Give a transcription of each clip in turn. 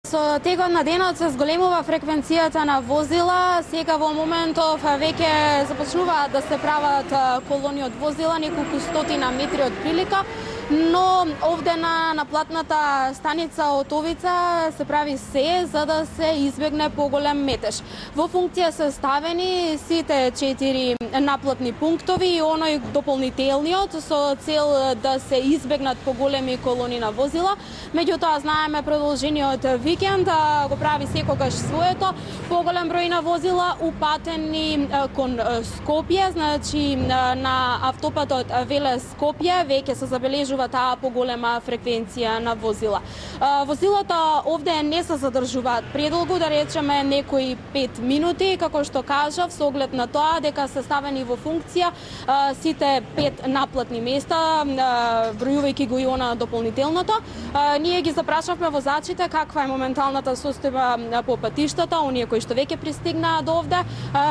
Со текот на денот се зголемува фреквенцијата на возила. Сега во моментов веќе започнуваат да се прават колони од возила, неколку стотина метри од прилика, но овде на наплатната станица Отовица се прави се за да се избегне поголем метеж. Во функција се ставени сите 4 наплатни пунктови и оној дополнителниот со цел да се избегнат поголеми колони на возила. Меѓутоа знаеме продолжениот викенд го прави секогаш своето. Поголем број на возила упатени кон Скопје, значи на автопатот Велес-Скопје веќе се забележува таа поголема фреквенција на возила. Возилата овде не се задржуваат предолго, да речеме некои 5 минути, како што кажав, со оглед на тоа дека се ставени во функција сите 5 наплатни места, бројувајќи го и она дополнителното. Ние ги запрашавме возачите каква е моменталната состојба по патиштата, оние кои што веќе пристигнаа до овде,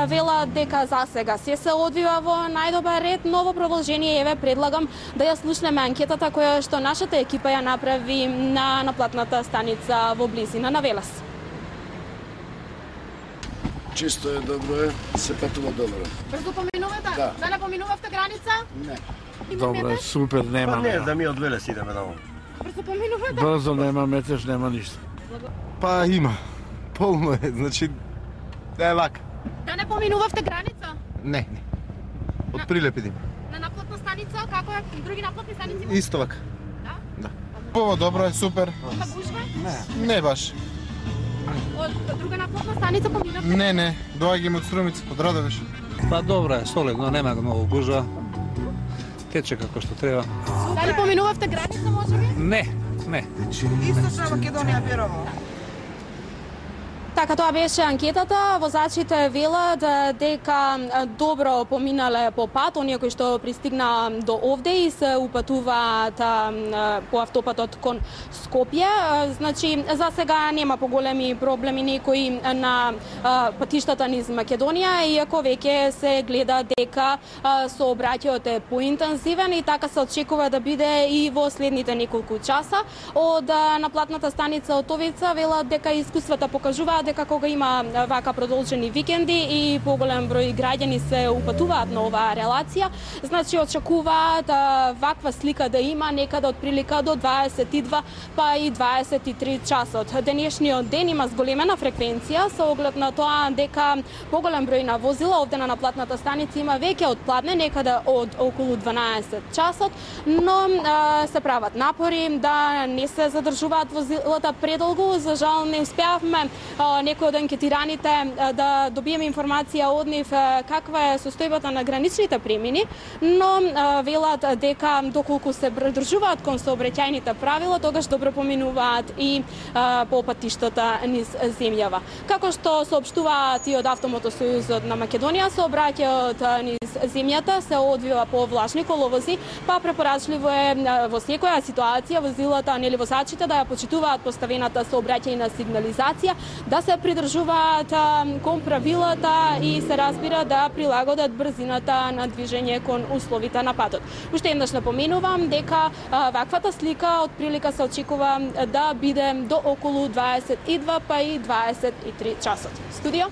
велат дека за сега се одвива во најдобар ред, но во продолжение еве предлагам да ја слушнеме анкетата која што нашата екипа ја направи на наплатната станица во близина на Велес. Чисто е, добро е, се патува добро. Брзо поминувате? Да. Не поминувавте граница? Не. Добро, супер, нема. Па не, да ми од Велес идеме таму. Брзо поминувате? Брзо, нема метеж, нема ништо. Па има. Полно е, значи е лак. Да не поминувавте граница? Не. Од Прилеп идем. На наплатна станица, како е други наплатни станици? Исто вака. Да? Пово добро е, супер. Има гужва? Не баш. Од друга наплатна станица поминавте? Не, доаѓаме од Струмица, од Радовиш. Па добро е, солидно, нема многу гужва. Тече како што треба. Дали поминувавте граница, можеби? Не. Источна Македонија верово. Така, тоа беше анкетата. Возачите велат дека добро поминале по пат, оние кои што пристигнаа до овде и се упатуваат по автопатот кон Скопје. Значи, за сега нема поголеми проблеми некои на патиштата низ Македонија, иако веќе се гледа дека сообраќајот е поинтензивен и така се очекува да биде и во следните неколку часа. Од наплатната станица Отовица велат дека искуствата покажуваат дека кога има вака продолжени викенди и поголем број граѓани се упатуваат на оваа релација, значи очекуваат ваква слика да има некаде од прилика до 22 па и 23 часот. Денешниот ден има зголемена фреквенција со оглед на тоа дека поголем број на возила овде на наплатната станица има веќе отпладне некаде од околу 12 часот, но се прават напори да не се задржуваат возилата предолго. За жал не успеавме некои од анкетираните да добиеме информација од нив каква е состојбата на граничните премини, но велат дека доколку се придржуваат кон сообраќајните правила, тогаш добро поминуваат и по патиштата низ земјава. Како што соопштуваат и од Автомотосојузот на Македонија, сообраќајот низ земјата се одвива по влажни коловози, па препорачливо е во секоја ситуација возилата, нели возачите да ја почитуваат поставената сообраќајна сигнализација, да се придржуваат кон правилата и се разбира да прилагодат брзината на движење кон условите на патот. Уште еднаш напоменувам дека ваквата слика од прилика се очекува да биде до околу 22 па и 23 часот. Студио?